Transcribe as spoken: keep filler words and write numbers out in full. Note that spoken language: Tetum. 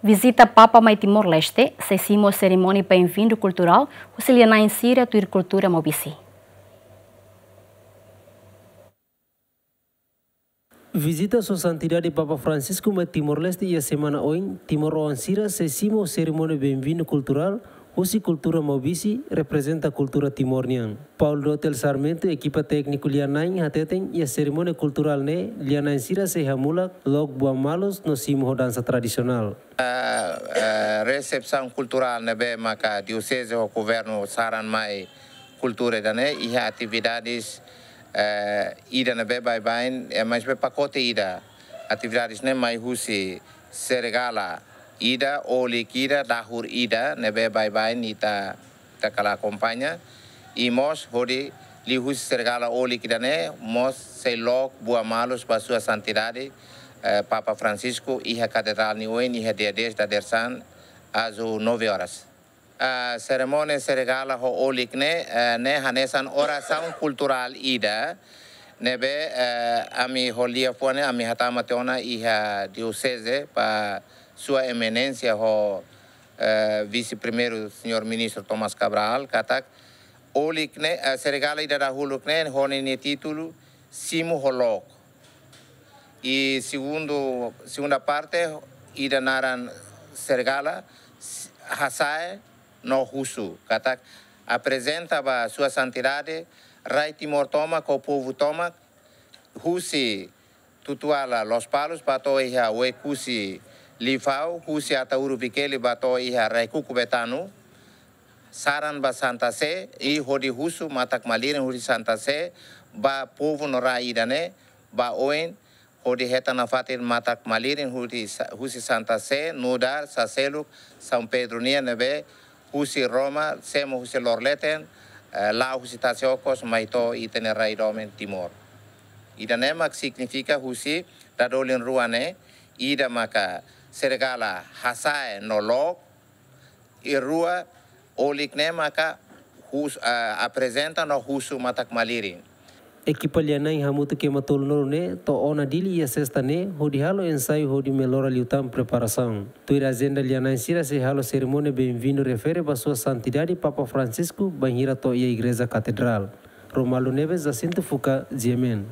Vizita Papa mai Timor-Leste sei simu serimónia benvindu kulturál husi lia-na'in sira tuir kultura maubisi. Vizita Sua Santidade Papa Francisco mai Timor-Leste iha semana oin, timoroan sira sei simu serimónia benvindu kulturál husi kultura maubisi, reprezenta kultura Timor nian. Paulo Dotel Sarmento, ekipa tékniku lia-na'in, hateten iha serimónia kulturál ne'e lia-na'in sira sei hamulak, look buan malus no simu ho dansa tradisionál. Eh, eh, resepsaun kulturál ne'ebé maka dioseze ho governu saran mai kultura ida-ne'e, iha atividades, eh, ida ne'ebé baibain, eh, maibé pakote ida. Atividades ne'e mai husi serigala ida, olik ida, dahur ida, ne'ebé baibain ita, ita kala akompaña. I mós hodi liuhusi serigala olik ida-ne'e, mós sei look buan malus ba Sua Santidade, eh, Papa Francisco, iha Katedrál nia oin, iha dia dez dadeer-saan, às nove horas. Ah, serimónia serigala ho olik ne'e, eh, ne'e hanesan orasaun kulturál ida, ne'ebé, eh, ami ho liafuan ne'e, ami hatama tiha ona iha dioseze ba Sua Eminénsia ho, eh, Vise-Primeiru Señór Ministru Thomas Cabral, katak olik ne'e, eh, serigala ida dahuluk ne'e, ho ninia títulu Simu ho Look. I segundu, segunda parte, ida naran serigala, s-, hasa'e no husu. Katak aprezenta ba Sua Santidade, rai Timor tomak ho povu tomak, husi Tutuala Lospalos ba to'o iha Oekusi Lifau, husi Ataúru Vikeli ba to'o iha Raikuku Betanu, saran ba Santa Sé, i hodi husu matak-malirin husi Santa Sé ba povu no rai ida-ne'e, ba oin, hodi hetan nafatin matak-malirin husi sa-, husi Santa Sé, nu'udar, saseluk, São Pedro nian ne'ebé, husi Roma, semo husi loroleten, eh, la'o husi tasi okos, mai to'o ita-nia rai domin Timor. Ida-ne'e mak signifika husi dadolin rua ne'e, ida maka serigala hasa'e no look, i rua olik ne'e maka hus-, ah, aprezenta no husu matak-malirin. Ekipa lia-na'in hamutuk ema tolunulu ne'e to'o ona Dili iha sesta ne'e, hodi halo ensaiu hodi melora liután preparasaun. Tuir ajenda lia-na'in sira sei halo serimónia benvindu refere ba Sua Santidade Papa Francisco bainhira to'o iha Igreja Katedrál. Romualdo Neves, Jacinto Fuca, G M N.